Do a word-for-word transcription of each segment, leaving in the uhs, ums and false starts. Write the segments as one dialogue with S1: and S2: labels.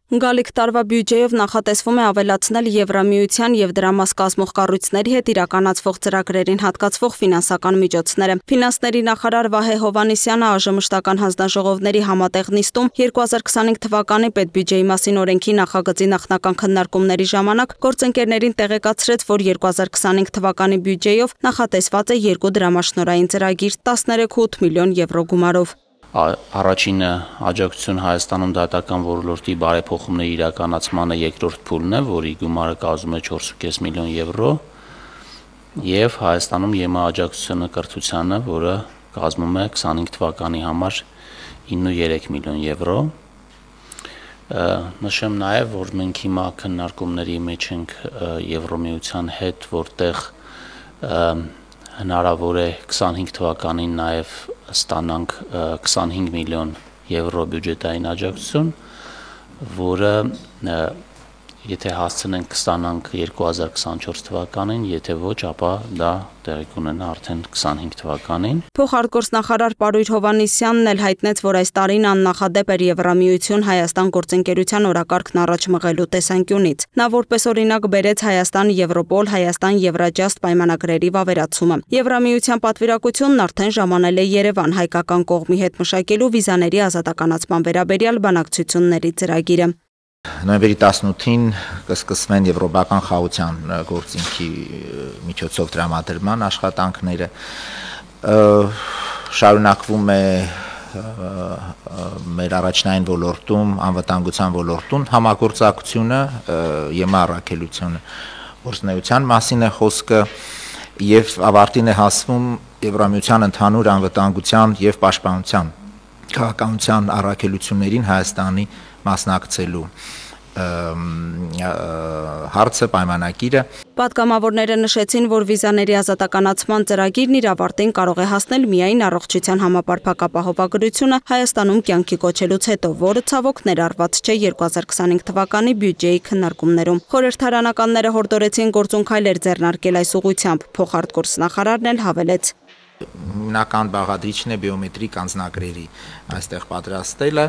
S1: Գալիք տարվա բյուջեով նախատեսվում է ավելացնել Եվրամիության և դրա մաս կազմող կառույցների հետ իրականացվող ծրագրերին հատկացվող ֆինանսական միջոցները։ Ֆինանսների նախարար Վահե Հովհաննիսյանը ԱԺ մշտական հանձնաժողովների համատեղ նիստում երկու հազար քսանհինգ թվականի պետբյուջեի մասին օրենքի նախագծի նախնական քննարկումների ժամանակ գործընկերներին տեղեկացրեց, որ երկու հազար քսանհինգ թվականի բյուջեով նախատեսված է երկու դրամաշնորհային ծրագիր տասներեք կόμμα ութ միլիոն եվրո գումարով։
S2: Առաջինը աջակցություն Հայաստանում դատական ոլորտի բարեփոխումների իրականացմանը երկրորդ փուլն է, որի գումարը կազմում է չորս կόμma պենս միլիոն եվրո, եւ Հայաստանում ԵՄ աջակցությունը կրթությանը, որը կազմում է քսանհինգ թվականի համար ինը կόμma երեք միլիոն եվրո։ Նշեմ նաեւ, որ մենք հիմա քննարկումների մեջ ենք Եվրոմիության հետ, որտեղ հնարավոր է քսանհինգ թվականին նաև ստանանք քսանհինգ միլիոն եվրո բյուջետային աջակցություն, որը եթե հասցնենք կստանանք երկու հազար քսանչորս թվականին, եթե ոչ, ապա դա տեղի կունենա արդեն քսանհինգ թվականին։
S1: Փոխարտգործնախարար Պարույր Հովհաննիսյանն էլ հայտնեց, որ այս տարին աննախադեպ էր Եվրամիություն Հայաստան գործընկերության օրակարգն առաջ մղելու տեսանկյունից։ Նա որպես օրինակ բերեց Հայաստան Եվրոպոլ, Հայաստան Եվրաջաստ պայմանագրերի վավերացումը։ Եվրամիության պատվիրակությունն արդեն ժամանել է Երևան հայկական կողմի հետ մշակելու վիզաների ազատականացման վերաբերյալ բանակցությունների ծրագիրը։
S3: Նոյեմբերի տասնութին կսկսվեն եվրոպական խաղաղության գործիքի միջոցով տրամադրման աշխատանքները, շարունակվում է մեր առաջնային ոլորտում, անվտանգության ոլորտում համագործակցությունը, ԵՄ առաքելությունը գործունեության մասին է խոսքը եւ ավարտին է հասվում Եվրամիության ընդհանուր անվտանգության եւ պաշտպանության քաղաքականության առաքելություններին Հայաստանի մասնակցելու հարցը պայմանագիրը։
S1: Պատգամավորները նշեցին, որ վիզաների ազատականացման ծրագիրն իր ավարտին կարող է հասնել միայն առողջության համապարփակ ապահովագրությունը Հայաստանում կյանքի կոչելուց հետո, որը ցավոք ներառված չէ երկու հազար քսանհինգ թվականի բյուջեի քննարկումներում։ Խորհրդարանականները հորդորեցին գործուն քայլեր ձեռնարկել այս ուղղությամբ։ Փոխարտգործնախարարն էլ հավելեց.
S3: Հիմնական բաղադրիչն է բիոմետրիկ անձնագրերի այստեղ պատրաստելը,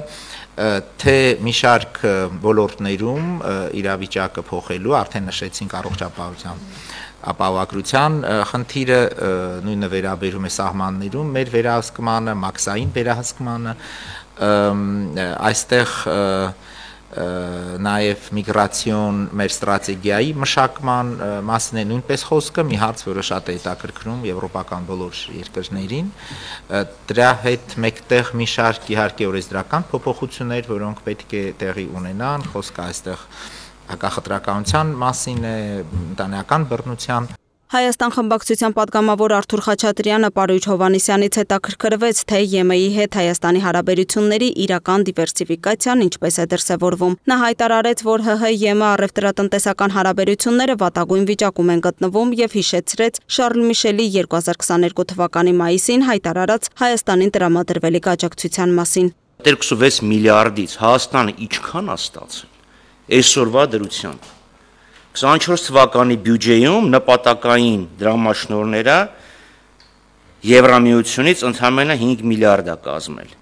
S3: թե մի շարք ոլորտներում իրավիճակը փոխելու, արդեն նշեցինք առողջապահության ապահովագրության խնդիրը, նույնը վերաբերում է սահմաններում մեր վերահսկմանը, մաքսային վերահսկմանը, այստեղ նաև միգրացիոն մեր ստրատեգիայի մշակման մասին է նույնպես խոսքը, մի հարց, որը շատ է հետաքրքրում եվրոպական բոլոր երկրներին, դրա հետ մեկտեղ մի շարք իհարկե օրենսդրական փոփոխություններ, որոնք պետք է տեղի ունենան, խոսքը այստեղ հակախտրականության մասին է, ընտանեկան բռնության։
S1: Հայաստան խմբակցության պատգամավոր Արթուր Խաչատրյանը Պարույր Հովհաննիսյանից հետաքրքրվեց, թե ԵՄ-ի հետ Հայաստանի հարաբերությունների իրական դիվերսիֆիկացիան ինչպես է դրսևորվում։ Նա հայտարարեց, որ ՀՀ-ԵՄ առևտրատնտեսական հարաբերությունները վատագույն վիճակում են գտնվում եւ հիշեցրեց Շարլ Միշելի երկու հազար քսաներկու թվականի մայիսին հայտարարած Հայաստանին տրամադրվելիք աջակցության մասին։
S4: երկուսունվեց միլիարդից Հայաստանը ինչքան է ստացել այսօրվա դրությամբ։ քսանչորս թվականի բյուջեում նպատակային դրամաշնորհները Եվրամիությունից ընդամենը հինգ միլիարդ է կազմել։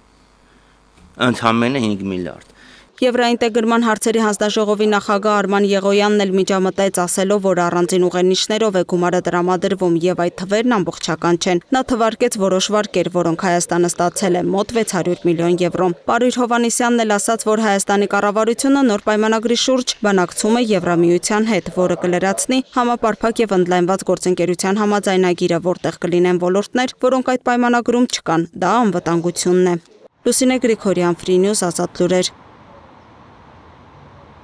S4: Ընդամենը հինգ միլիարդ։
S1: Եվրաինտեգրման հարցերի հանձնաժողովի նախագահ Արման Եղոյանն էլ միջամտեց, ասելով, որ առանձին ուղենիշներով է գումարը տրամադրվում եւ այդ թվերն ամբողջական չեն։ Նա թվարկեց որոշ վարկեր, որոնք Հայաստանը ստացել է մոտ վեց հարյուր միլիոն եվրո։ Պարույր Հովհաննիսյանն էլ ասաց, որ Հայաստանի կառավարությունը նոր պայմանագրի շուրջ բանակցում է Եվրամիության հետ, որը կլրացնի համապարփակ եւ ընդլայնված գործընկերության համաձայնագիրը, որտեղ կլինեն ոլորտներ, որոնք այդ պայմանագրում չկան։ Դա անվտանգությունն է։ Լուսինե Գրիգորյան, Free News, Ազատ լուրեր։